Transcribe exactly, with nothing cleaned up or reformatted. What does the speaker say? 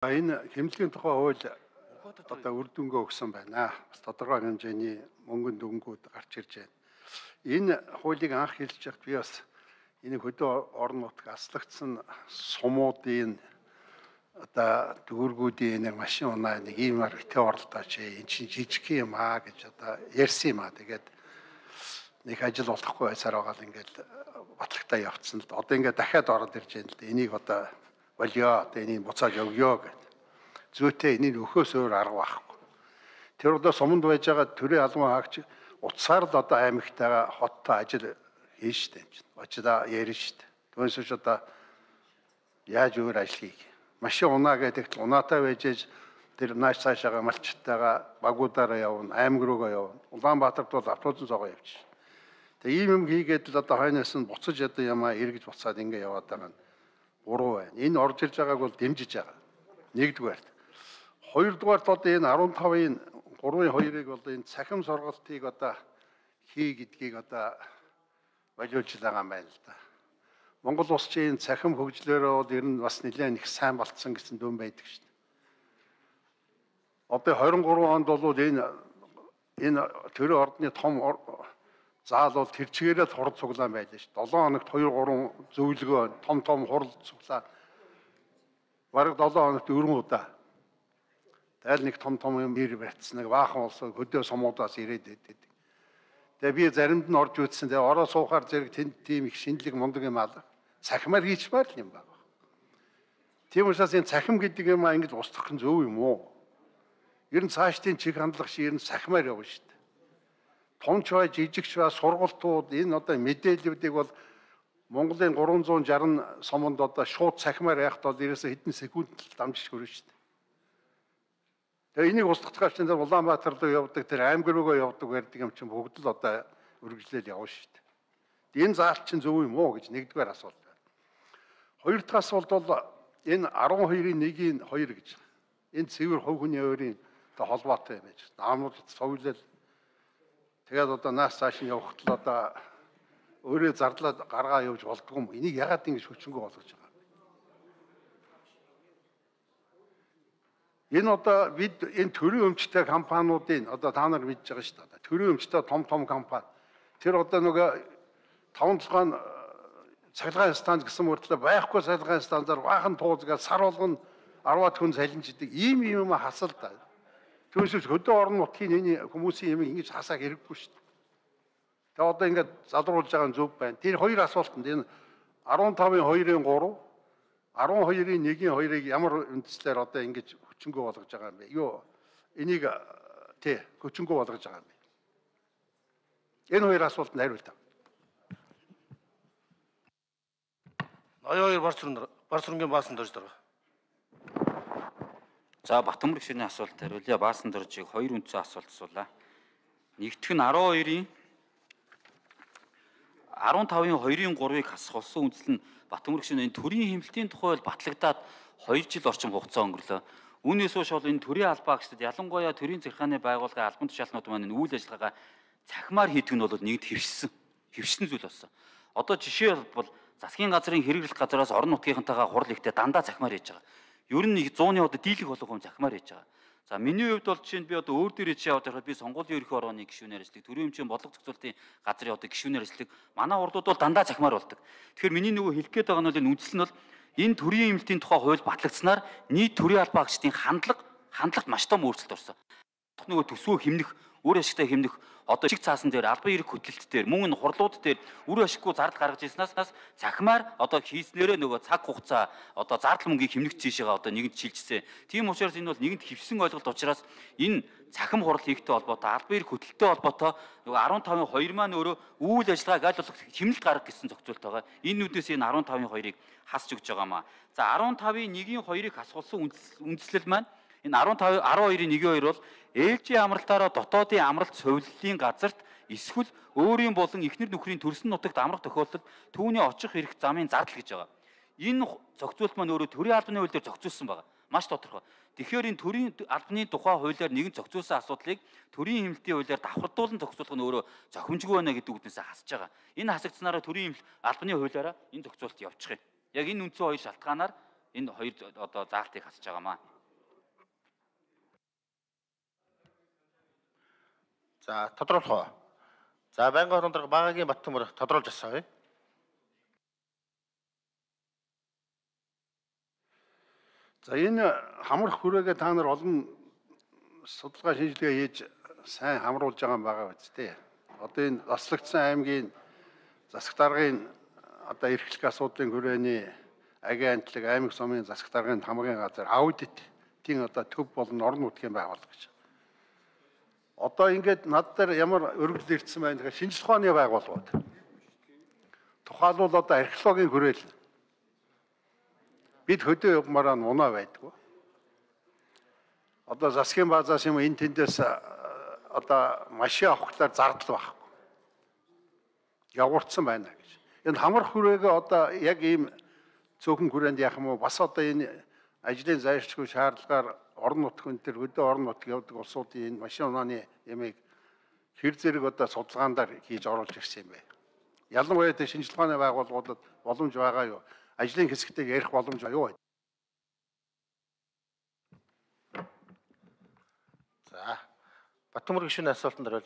Энэ хэмжлэгийн тухай хууль одоо үр дүнгээ өгсөн байна. Бас тодорхой хэмжээний мөнгөнд өнгүүд гарч ирж байна. Энэ хуулийг анх хэлж байхад би бас энэ хөдөө орон нутаг аслагдсан сумуудын одоо дүүргүүдийн нэг машин унаа нэг ийм аргитээ оролдооч энэ чинь жижиг юм аа гэж одоо ярьсан юм аа. Тэгээд нэг ажил болохгүй байсаар байгаа л ингээд батлагтаа явцсан л да. Одоо ингээд дахиад ороод ирж байна л да. Энийг одоо болио одоо энийг буцааж өгөө гэд. Зүйтэй энийг өхөөс өөр арга байхгүй. Тэр одоо суманд байж байгаа төрийн албан хаагч утсаар л одоо аймагтайгаа хоттой ажил хийн штэ юм чинь. Очида ярина штэ. Түүнээс ч одоо яаж өөр ажил хийх. Машин унаа гэдэг унаатай байж ээж тэр нааш цаашаага малчтайгаа багуудаараа явна, аймаг руугаа явна. Улаанбаатарт бол автобус цогоо явчих. Тэгээ ийм юм хийгээд л одоо хойноос нь буцаж одоо ямаа эргэж буцаад ингэ яваад байгаа нь буруу байна. Энэ орж ирж байгааг бол дэмжиж байгаа. Нэгдүгээрт. Хоёрдугаарт одоо энэ арван тавын гурван хоёрыг бол энэ цахим сургалтыг одоо хий гэдгийг одоо болиулж байгаа юм байна л да. Монгол улс чинь цахим хөгжлөөрөө бол ер нь бас нэлээд их сайн болцсон гэсэн дүн байдаг шүү дээ. Одоо двадцать три онд бол энэ энэ төрийн ордны том заал бол тэр чигээрээ л хурд цуглаан байлаа шүү. долоо хоногт хоёр гурван зөвлөгөө том том хурд цуглаан. Бараг долоо хоногт өргөн удаа. Тэгэл нэг том том юм ир барьцсан нэг баахан улсаа хөдөө сумуудаас ирээд байдаг. Тэгээ би заримд нь орж үзсэн. Тэгээ ороо суухаар зэрэг тэнд тийм их шинэлэг мундаг юм алга. Цахимаар хийчмаар л юм байна. Тийм учраас энэ цахим гэдэг юм аа ингэж устгах нь зөв юм уу? Ер нь цаашдын чиг хандлага шиг ер нь цахимаар явна шүү дээ. Томч бай, жижигч бай, сургалтууд энэ одоо мэдээллүүдийг бол Монголын гурван зуун шарсан суманд одоо шууд цахимаар яхад бол ерөөсө хэдэн секунд дамжиж хөрнө шүү дээ. Тэгээ энийг устгах чинь Улаанбаатар руу явдаг, тэр аймаг руугаа явдаг байдаг юм чинь бүгд л одоо үргэлжлэл явна шүү дээ. Энэ заалт чинь зөв юм уу гэж нэгдүгээр асуулт байна. Хоёр дахь асуулт бол энэ арван хоёрын нэгийн хоёр гэж. Энэ цэвэр хувь хүний өөрийн холбоотой юм байж. Наамууд цовлол. Тэгээд одоо наас цааш нь явахт л одоо өөрөө зардлаад гаргаа явж болдгоо юм. Энийг ягаад ингэж хүчингү болгож байгаа юм. Энэ одоо бид энэ төрийн өмчтэй компаниудын одоо та нар мэдж байгаа шүү дээ. Төрийн өмчтэй том том компани. Тэр одоо нөгөө таван толгойн цахилгаан станц гэсэн мөртлөө байхгүй цахилгаан станцаар баахан туузгаад сар болгон арваад хүн салинждаг. Ийм юм хасал да. Түүнээс хөдөө орон нутгийн энэ хүмүүсийн юм ингэж хасааг хэрэггүй шүү дээ. Тэгээ одоо ингээд залруулж байгаа нь зөв байна. Тэр хоёр асуултанд энэ арван тавын хоёрын гурав, арван хоёрын нэгийн хоёрыг ямар үндслээр одоо ингэж хүчингү болгож байгаа юм бэ? Юу энийг тий хүчингү болгож байгаа юм бэ? Энэ хоёр асуултанд хариулт. ноён хоёр барц сүрэн барц сүрэнгийн баасан дорж дараа. За Батмүрэг шинэ асуулт хариулъя. Баасан доржийг хоёр үндсэн асуулт асуулаа. Нэгдүгээр нь арван хоёрын арван тавын хоёрын гурвыг хасах болсон үндсэл нь Батмүрэг шинэ энэ төрийн хэмнэлтийн тухай бол батлагдаад хоёр жил орчим хугацаа өнгөрлөө. Үүнээс хойш бол энэ төрийн албаа гэсэд ялангуяа төрийн захиргааны байгууллагын албан тушаалнууд маань энэ үйл ажиллагаагаа цахимаар хийдэг нь бол нэгд хэвшсэн. Хэвшсэн зүйл болсон. Одоо жишээ бол засгийн газрын хэрэглэх газраас орон нутгийнхантайгаа хурал ихтэй дандаа цахимаар хийж байгаа. Ер нь зууны одоо дийлэх болох юм цахимаар хийж байгаа. За миний хувьд бол жишээ нь би одоо өөр дээр хийж яваад байхад би сонгуулийн ерөнхий орооны гишүүнээр ажилладаг. Төрийн өмчийн бодлого зохицуулалтын газрын одоо гишүүнээр ажилладаг. Манай урдууд бол дандаа цахимаар болдог. Тэгэхээр миний нөгөө хэлэх гээд байгаа нь бол энэ үндсэл нь бол энэ төрийн хэмнэлтийн тухай хууль батлагдсанаар нийт төрийн албаа агчдын хандлага хандлагт маш том өөрчлөлт орсон. Нөгөө төсвөө хэмнэх, үр ашигтай хэмнэх одоо чиг цаасан дээр албан эрх хөтөлөлт дээр мөн энэ хурлууд дээр үр ашиггүй зардал гаргаж ирснаас цахимаар одоо хийснээрээ нөгөө цаг хугацаа одоо зардал мөнгийг хэмнэх жишээгээ одоо нэгэнт шилжсэн. Тийм учраас энэ бол нэгэнт хэвсэн ойлголт учраас энэ цахим хурал хийхтэй холбоотой албан эрх хөтөлөлттэй холбоотой нөгөө арван тавын хоёр маань өөрөө үйл ажиллагааг аль болох хэмнэлт гаргах гэсэн зохицуулт байгаа. Энэ үднээс энэ арван тавын хоёрыг хасч өгч байгаамаа. За арван тавын нэгийн хоёрыг хасгуулсан үндслэл маань энэ арван тавын арван хоёрын нэгийн хоёр бол ээлжийн амралтаараа дотоодын амралт сувиллын газарт эсвэл өөрийн болон эхнэр нөхрийн төрсөн нутагт амрах тохиолдолд түүний очих эрх замын зардал гэж байгаа. Энэ зохицуулт маань өөрөө төрийн албаны хуулиар зохицуулсан байгаа. Маш тодорхой. Тэгэхээр энэ төрийн албаны тухай хуулиар нэгэн зохицуулсан асуудлыг төрийн хэмнэлтийн хуулиар давхардуулан зохицуулах нь өөрөө зохимжгүй байна гэдэг үгнээсээ хасж байгаа. Энэ хасагдсанаараа төрийн албаны хуулиараа энэ зохицуулт явуучих юм. Яг энэ үндсэн хоёр шалтгаанаар энэ хоёр одоо заалтыг хасж байгаамаа. За тодруулах уу? За байнгын орон дарга Багагийн Баттөмөр тодруулж асууя. За энэ хамрах хүрээгээ та нар олон судалгаа шинжилгээ хийж сайн хамруулж байгаа юм байгаа биз дээ. Одоо энэ заслагдсан аймгийн засаг даргын одоо эрхлэх асуудлын хүрээний агийн антлаг аймаг сумын засаг даргын хамгаалгын газар аудитын одоо төв болон орон нутгийн байгууллага гэж. Одоо ингээд над дээр ямар өргөдөл ирсэн байна гэхээр шинжлэх ухааны байгууллагууд. Тухайлбал одоо археологийн хүрээл. Бид хөдөө явмаараа унаа байдгүй. Одоо засгийн базаас юм энэ тэндээс одоо машин авахлаар зардал байхгүй. Явуулсан байна гэж. Энэ хамрах хүрээгээ одоо яг ийм цөөхөн хүрээнд яах юм уу? Бас одоо энэ ажлын зайлшгүй шаардлагаар орон нутгийн төр хөдөө орон нутг явдаг улсуудын энэ машин унааны ямыг хэр зэрэг одоо судалгаандаар хийж оруулж ирсэн юм бэ? Ялангуяа тэ шинжлэх ухааны байгууллагуудад боломж байгаа юу? Ажлын хэсэгтээ ярих боломж юу вэ? За Баттөмөр гишүүний асуултанд хариулъя.